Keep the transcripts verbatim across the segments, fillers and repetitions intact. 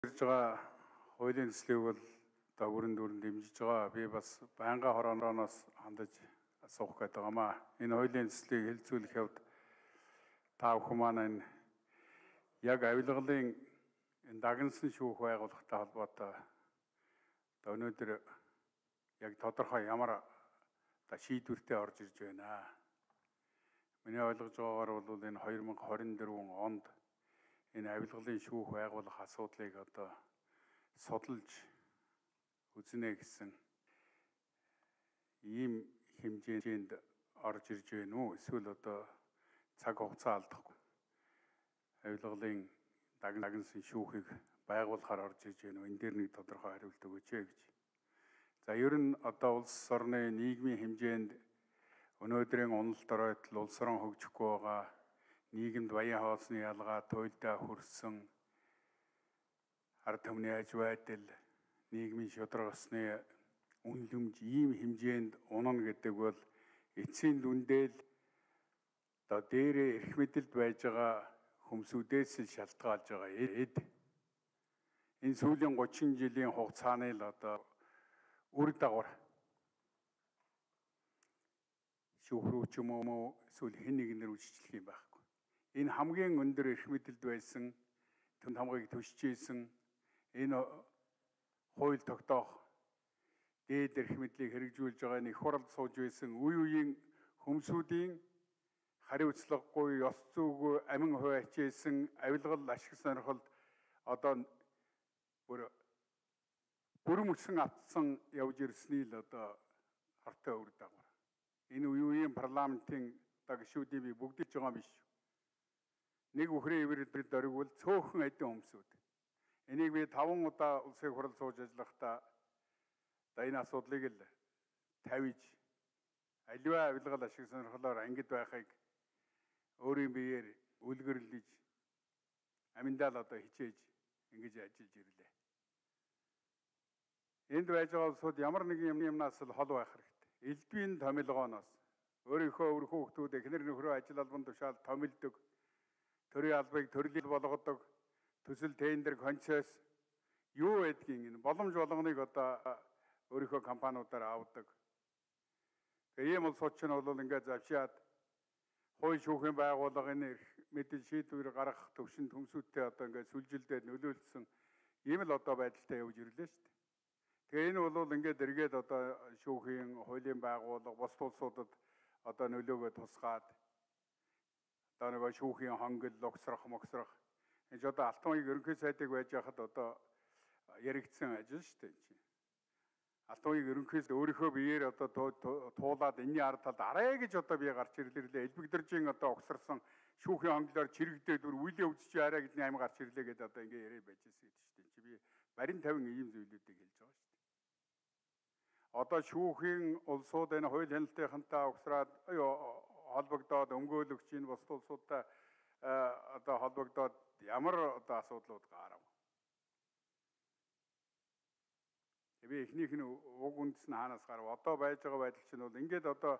Ирж байгаа хуулийн төслийг бол одоо бүрэн дүрэн дэмжиж байгаа. Би бас байнгын хорооноос хандаж асуух гээд байгаамаа. Энэ хуулийн төслийг хэлцүүлэх явд та бүхэн маань энэ яг авилгалын энэ дагнасан шүүх байгууллагатай холбоотой одоо өнөөдөр яг тодорхой ямар одоо шийдвэртэй орж ирж байна. Миний ойлгож байгаагаар бол энэ хоёр мянга хорин дөрвөн онд энэ авилгалын шүүх байгуулах асуудлыг одоо судалж үзнэ гэсэн ийм хэмжээнд орж ирж байна уу? Эсвэл одоо цаг хугацаа алдахгүй авилгалын дагнасан шүүхийг байгуулахаар орж ирж байна уу? Энэ дээр нэг тодорхой хариулт өгөөч ээ гэж. За ер нь одоо улс орны нийгмийн хэмжээнд өнөөдрийн уналт оройтол улс орон хөгжихгүй байгаа, нийгэмд баян хоолсны ялгаа, туйлдаа хүрсэн, ард түмний аж байдал, нийгмийн шударгасны үнэлэмж ийм хэмжээнд унана гэдэг бол эцсийн дүндэл одоо дээрээ эрх мэдэлд байж байгаа хүмсүүдээс л шалтгаалж байгаа эд. Энэ сүүлийн гучин жилийн хугацааны л одоо үр дагавар шүүхрүү ч юм уу эсвэл хэн нэгнэр үжиглэх юм байхгүй. Энэ хамгийн өндөр эрх мэдэлд байсан, түн хамгаыг төсч ийсэн энэ хууль тогтоох дээд эрх мэдлийг хэрэгжүүлж байгаа нэг хуралд сууж байсан үе үеийн хүмсүүдийн хариуцлагагүй, ёс зүйгүй амин хувь ачээсэн авилгал ашиг сонирхолд одоо бүр бүрэн өсөн автсан явж ирсний л одоо хартай үр дагавар. Энэ үе үеийн парламентын одоо гишүүдийг би бүгдийг ч байгаа биш. Нэг үхрийн ивэрд оргивол цөөхөн эдэн хүмсүүд. Энийг би таван удаа улсын хурал сууж ажиллахдаа одоо энэ асуудлыг л тавьж аливаа авилгал ашиг сонирхлоор ангид байхыг өөрийн биеэр үлгэрлэж аминдаа л одоо хичээж ингэж ажиллаж ирлээ. Энд байж байгаа улсууд ямар нэгэн юмнаас л хол байх хэрэгтэй. Элдвийн томилгооноос өөрийнхөө өрхөө хүүхдүүд эхнэр нөхрөө ажил албан тушаал томилдог, төрийн албыг төрөлил болгодог, төсөл тендер концесс юу байдгийг энэ боломж болгоныг одоо өөрийнхөө компаниудаар авдаг. Тэгээ ийм улсууд ч нь бол ингээд завшаад хууль шүүхийн байгууллага энэ мэдээ шийдвэр гаргах төвшин төмсүүдтэй одоо ингээд сүлжилдээд нөлөөлсөн ийм л одоо байдалтай явж ирлээ шүү дээ. Тэгээ энэ бол ингээд эргээд одоо шүүхийн хуулийн байгууллага бус улсуудад одоо нөлөөгөө тусгаад одоо нөгөө шүүхийн хонгил логсрох моксрох энэ ч одоо алтан уугийн ерөнхий сайдыг байж хахад одоо яригдсан ажил шүү дээ чинь. Алтан уугийн ерөнхийс өөрийнхөө биеэр одоо туулаад энэний ард талд арай гэж одоо би гарч ирлээ. Элбэгдэржийн одоо огсарсан шүүхийн хонглоор чирэгдээд бүр үеийн өвдөж арай гэдний амь гарч ирлээ гэдэг одоо ингээ яриа байж байгаа шүү дээ. Чи би барин тавин ийм зүйлүүдийг хэлж байгаа шүү дээ. Одоо шүүхийн улсууд энэ хууль хяналтынхантай огсраад холбогдоод өмгөөлөгч энэ бус улсуудтай одоо холбогдоод ямар одоо асуудлууд гарав. Би эхнийх нь уг үндэс нь хаанаас гарав? Одоо байж байгаа байдал чинь бол ингээд одоо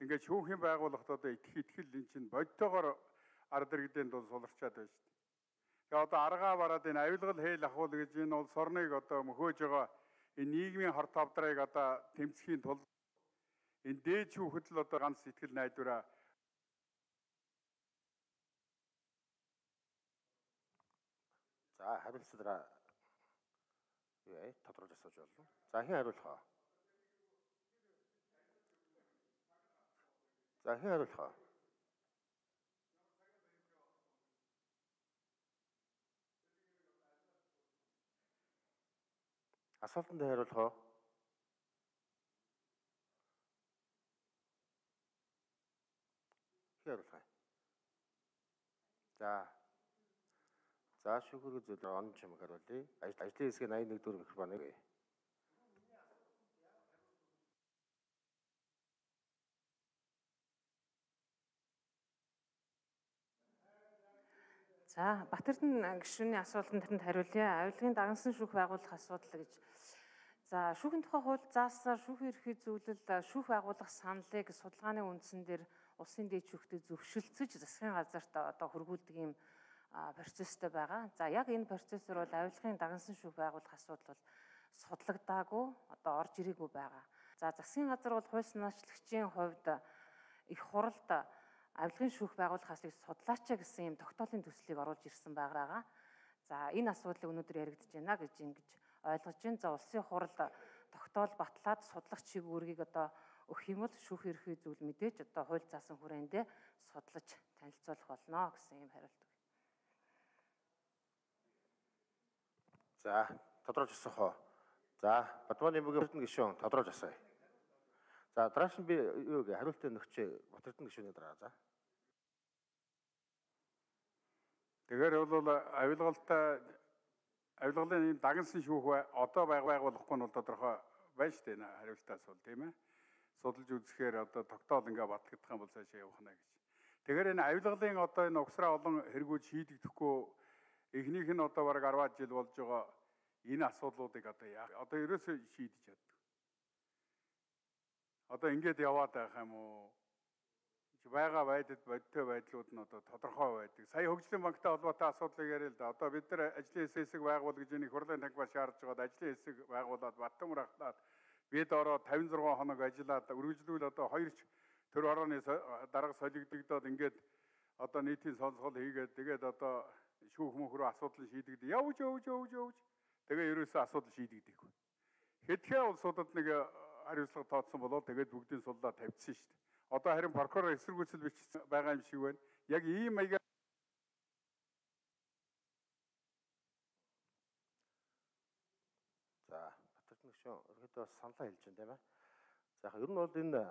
ингээд шүүхийн байгууллагт одоо итгэх итгэл энэ чинь бодтойгоор ард иргэдэнд бол суларчаад байна шүү дээ. Тэгээ одоо аргаа бараад энэ авилгал хээл ахуул гэж энэ улс орныг одоо мөхөөж байгаа энэ нийгмийн хор тавдрыг одоо тэмцэхийн тулд энэ дээд шүүхэд л одоо ганц сэтгэл найдвараа за хариулцлаараа юу ээ тодорхойлж асууж болно. За хэн хариулах вэ? За хэн хариулах вэ? Асуултанд хариулах уу? Хэн хариулах вэ? За За шүүхрэг зүйл он чимэг хариулъя. Ажлын хэсгийн восемьдесят один дөрөв микрофоныг. За Батэрдэн гишүүний асуултанд тэрэнд хариулъя. Авилгын дагнасан шүүх байгуулах асуудал гэж. За шүүхийн тухай хууль заасаар шүүхийн ерхий зөвлөл шүүх байгуулах саналыг судалгааны үндсэн дээр улсын дээд шүүхтэд зөвшөлдсөж засгийн газарт одоо хөргүүлдэг юм процесстэй байгаа. За яг энэ процессор бол авилгын дагнасан шүүх байгуулах асуудал бол судлагдаагүй, одоо орж ирээгүй байгаа. За засгийн газар бол хууль санаачлагчийн хувьд их хуралд авилгын шүүх байгуулах асуудлыг судлаачаа гэсэн юм тогтоолын төслийг оруулж ирсэн байгаа. За энэ асуудлыг өнөөдөр яригдж байна гэж ингэж ойлгож байна. За улсын хуралд тогтоол батлаад судлах чиг үүргийг одоо өгөх юм бол шүүх ерхий зүйл мэдээж одоо хууль заасан хүрээндээ судлаж танилцуулах болно гэсэн юм хариулт. За, тодорхойлж асуух уу? За, Бадманы бүгийн гишүүн тодорхойлж асууя. За, дарааш нь би юу гэ хариултын нөхчөө Батэрдэн гишүүний дараа за. Тэгэхээр бол авилгалтай авилгалын ийм дагнсан шүүх одоо байгуулахгүй нь бол тодорхой байна шүү дээ хариултаас бол тийм ээ. Судалж үзэхээр одоо тогтоол ингээ батлагдах юм бол цаашаа явах нь гэж. Тэгэхээр энэ авилгалын одоо энэ угсраа олон хэрэгүүд шийдэгдэхгүй эхнийх нь одоо бараг арваад жил болж байгаа энэ асуудлуудыг одоо яах одоо ерөөсөө шийдэж чаддаг. Одоо ингээд яваад байх юм уу? Байгаа байдал бодтой байдлууд нь одоо тодорхой байдаг. Сая хөгжлийн банктай холбоотой асуудлыг яриа л да. Одоо бид нар ажлын хэсэг байгуул гэж энийг хурлын тангиас шаардж байгаад ажлын хэсэг байгуулад Баттамөр ахлаад бид ороо тавин зургаан хоног ажиллаад үргэлжлүүл одоо хоёрч төр орооны дарга солигдогдоод ингээд одоо нийтийн сонсгол хийгээд тэгээд одоо шүүх мөнх рүү асуудал шийдэгдээ. Явж явж явж явж тэгээ ерөөсөө асуудал шийдэгдэхгүй. Хэдхэн улсуудад нэг хариуцлага тооцсон болоод тэгээд бүгдийн суллаа тавьчихсан шүү дээ. Одоо харин прокурор эсэргүүцэл бичсэн байгаа юм шиг байна. Яг ийм маягаар За, Батэрдэн гишүүн ерөөдөө саналаа хэлж байна тийм ээ. За яг ер нь бол энэ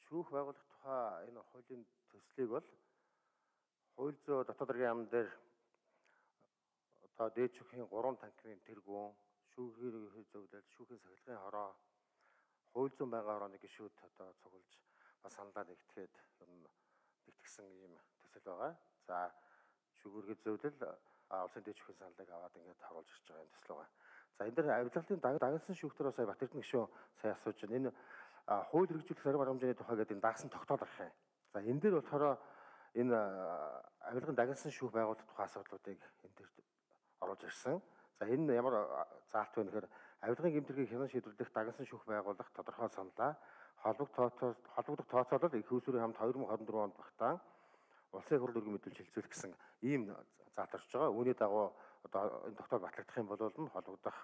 шүүх байгуулах тухай энэ хуулийн төслийг бол хууль зүйн дотоод хэргийн яам дээр одоо дээд шүүхийн гурван танхимын тэргүүн, шүүхийн зөвлөлт, шүүхийн сахилгын хороо, хууль зүйн байнгын хорооны гишүүд одоо цуглаж бас саналаа нэгтгэхэд ер нь нэгтгэсэн ийм төсөл байгаа. За шүүхэргийн зөвлөл улсын дээд шүүхийн саналыг аваад ингээд харуулж ирж байгаа юм төсөл байгаа. За энэ дээр авилгалын дагнасан шүүхтэр сая Батэрдэн гишүүн сая асууж байна. Энэ хууль хэрэгжүүлэх зарим арга хэмжээний тухай гэдэг энэ дагсан тогтоол арах юм. За энэ дээр болохоор энэ авилгын дагнасан шүүх байгуулах тухай асуудлуудыг энэ дээр оруулж ирсэн. За энэ ямар заалт вэ гэхээр авилгын гэмтэргийг хянан шийдвэрлэх дагнасан шүүх байгуулах тодорхой саналаа холбогдох холбогдох тооцоолол их усүрийн хамт хоёр мың хорин дөрвөн онд багтаан улсын хурал өргөн мэдүүлж хэлцүүлэх гэсэн ийм заалт орж байгаа. Үүний дагуу одоо энэ тогтоол батлагдах юм бол холбогдох